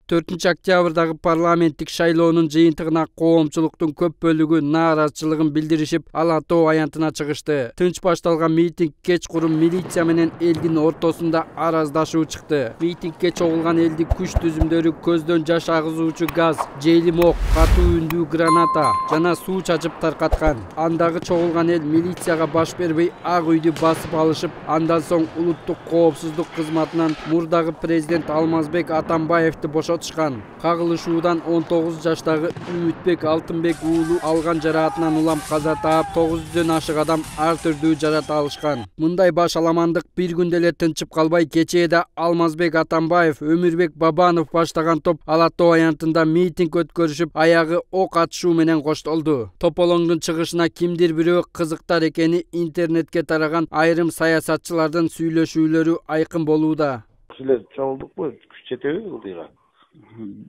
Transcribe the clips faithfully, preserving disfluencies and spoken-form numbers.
төртүнчү октябрдагы парламенттик шайлоонун жыйынтыгына коомчулуктун көп бөлүгү нааразычылыгын билдиришип, Ала тоо аянтына чыгышты. Тынч башталган митинг кечкурун милиция менен элдин ортосунда араздашуу чыкты. Митингге чогулган элди күч түзүмдөрү көздөн жаш агызуучу газ, жейлим ок, катуу үндүү граната жана суу чачып таркаткан. Андагы чогулган эл милицияга баш бербей Ак үйдү басып алышып, андан соң улуттук коопсуздук кызматынан мурдагы президент Алмазбек Атамбаевди бошотушкан. Кагылышуудан он тогуз жаштагы Үмүтбек Алтынбек уулу алган жараатынан улам каза таап, тогуз жүздөн ашык адам ар түрдүү жарат алышкан. Мындай баш аламандык бир күндө эле тынчып калбай, кечээде Алмазбек Атамбаев, Өмүрбек Бабанов баштаган топ Ала тоо аянтында митинг өткөрүшүп, аягы ок атышуу менен коштолду. Тополоңдун чыгышына кимдир бирөө кызыктар экени интернетке тараган айрым саясатчылардын сүйлөшүүлөрү айкын болууда. Силер чогулдукпу? Күч жетеби ылдыйга?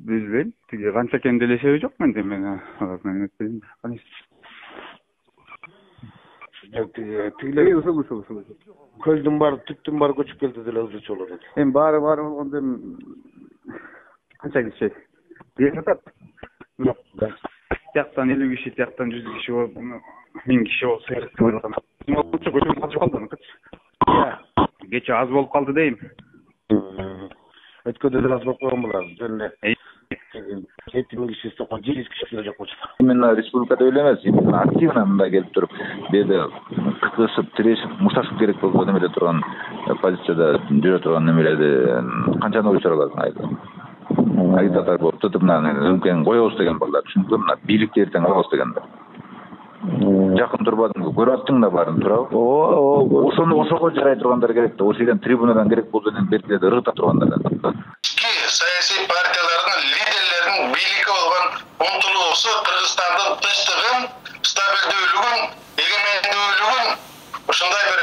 Билбейм. Тиги канча экен делешеби жок менде мен. Мен өтпөйм. Канис. Тигилер ушул ушул ушул. Көлдүн баары, түптүн баары көчүп келди деле ылдычы болот экен. Эми баары баары болгондо эми канча киши? Бир жатат. Жок. Тияктан элүү киши, тияктан жүз киши болуп, миң киши болсо керек деп ойлогом. Көчүп калып калды. Кече аз болуп калды дейм. Өткөндө деле аз болуп койгон болар. Жөн эле жети миң киши сокон, жүз киши деле жок болчу. Именно республикада эле эмес, именно активно мындай келип туруп, беде кыкышып, тирешип, мушташып керек болуп немеле турган позицияда жүрө турган немелерди канчаны ой сураласың айда. Агитатор болуп туруп, мына өмкени коебуз деген балдар, чүнкү мына бийликти эртең алабыз дегендер. Жакын турбадыңбы? Көрүп аттың да баарын туурабы? Ооба. Ошону ошого жарай тургандар керек да. Ошо жерден трибунадан керек болсо деген беркилерде ыргыта тургандар. Саясий партиялардын лидерлеринин бийликке болгон умтулуусу Кыргызстандын тынчтыгын, стабилдүүлүгүн, эгемендүүлүгүн ушундай бир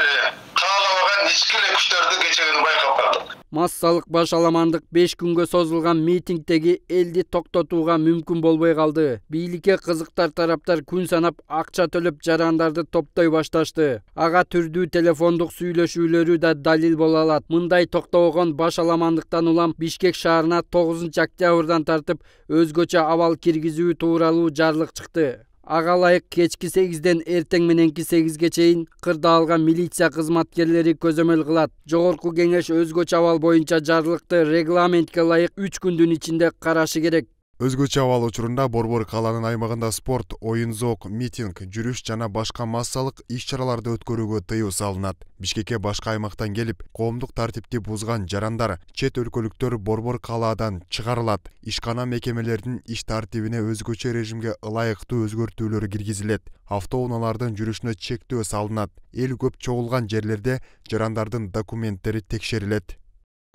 каалабаган ички эле күчтөрдү кечегени байкап калдык. Массалык баш аламандык беш күнгө созулган митингдеги элди токтотууга мүмкүн болбой калды. Бийликке кызыктар тараптар күн санап акча төлөп жарандарды топтой башташты. Ага түрдүү телефондук сүйлөшүүлөрү да далил боло алат. Мындай токтобогон баш аламандыктан улам Бишкек шаарына тогузунчу октябрдан тартып өзгөчө абал киргизүү тууралуу жарлык чыкты. Ага ылайык кечки сегизден эртең мененки сегизге чейин кырдаалган милиция кызматкерлери көзөмөл кылат. Жогорку кеңеш өзгөчө абал боюнча жарлыкты регламентке ылайык үч күндүн ичинде карашы керек. Өзгөчө абал учурунда Борбор калаанын аймагында спорт, оюн-зоок, митинг, жүрүш жана башка массалык иш-чараларды өткөрүүгө тыюу салынат. Бишкекке башка аймактан келип, коомдук тартипти бузган жарандар, чет өлкөлүктөр Борбор калаадан чыгарылат. Ишкана мекемелердин иш тартибине өзгөчө режимге ылайыктуу өзгөртүүлөр киргизилет. Автоунаалардын жүрүшүнө чектөө салынат. Эл көп чогулган жерлерде жарандардын документтери текшерилет.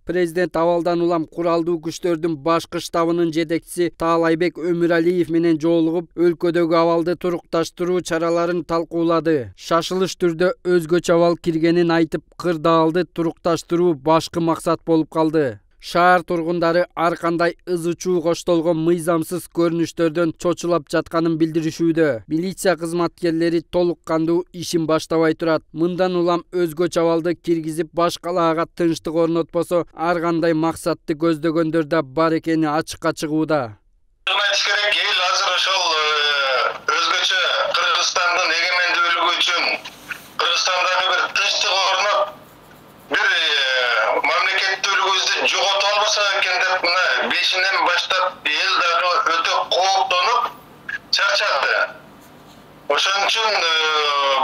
Президент абалдан улам куралдуу күчтөрдүн башкы штабынын жетекчиси Таалайбек Өмүралиев менен жолугуп, өлкөдөгү абалды турукташтыруу чараларын талкуулады. Шашылыш түрдө өзгөчө абал киргенин айтып, кырдаалды турукташтыруу башкы максат болуп калды. Шаар тургундары ар кандай ызы-чуу коштолгон мыйзамсыз көрүнүштөрдөн чочулап жатканын билдиришүүдө. Милиция кызматкерлери толук кандуу ишин баштабай турат. Мындан улам өзгөчө абалды киргизип, баш калаага тынчтык орнотпосо, ар кандай максатты көздөгөндөр да бар экени ачыкка чыгууда. Айтыш керек, эл азыр ошол өзгөчө Кыргызстандын эгемендүүлүгү үчүн, Кыргызстандагы бир тынчтык орноп, бир мамлекеттүүлүгүбүздү жогото албаса экен деп мына бешинен баштап эл дагы өтө кооптонуп чарчады. Ошон үчүн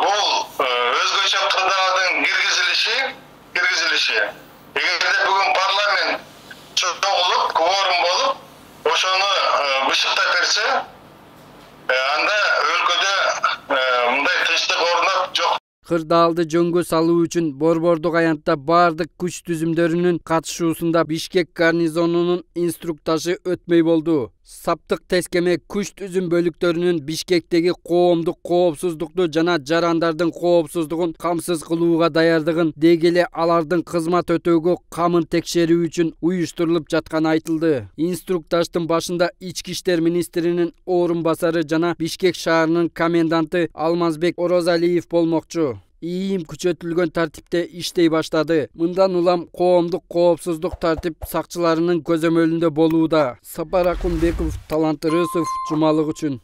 бул өзгөчө кырдаалдын киргизилиши, киргизилиши. Эгерде бүгүн парламент чогулуп, кворум болуп, ошону бышыктап берсе, анда өлкөдө мындай тынчтык орноп жок. Кырдаалды жөнгө салуу үчүн Борбордук аянтта бардык күч түзүмдөрүнүн катышуусунда Бишкек гарнизонунун инструктажы өтмөй болду. Саптык тескеме күч түзүм бөлүктөрүнүн Бишкектеги коомдук коопсуздукту жана жарандардын коопсуздугун камсыз кылууга даярдыгын, деги эле алардын кызмат өтөөгө камын текшерүү үчүн уюштурулуп жатканы айтылды. Инструктаждын башында Ички иштер министринин орун басары жана Бишкек шаарынын коменданты Алмазбек Орозалиев болмокчу. ийим күчөтүлгөн тартипте иштей баштады. Мындан улам коомдук коопсуздук тартип сакчыларынын көзөмөлүндө болууда. Сапар Акунбеков, Талант Рысов, Жумалык үчүн.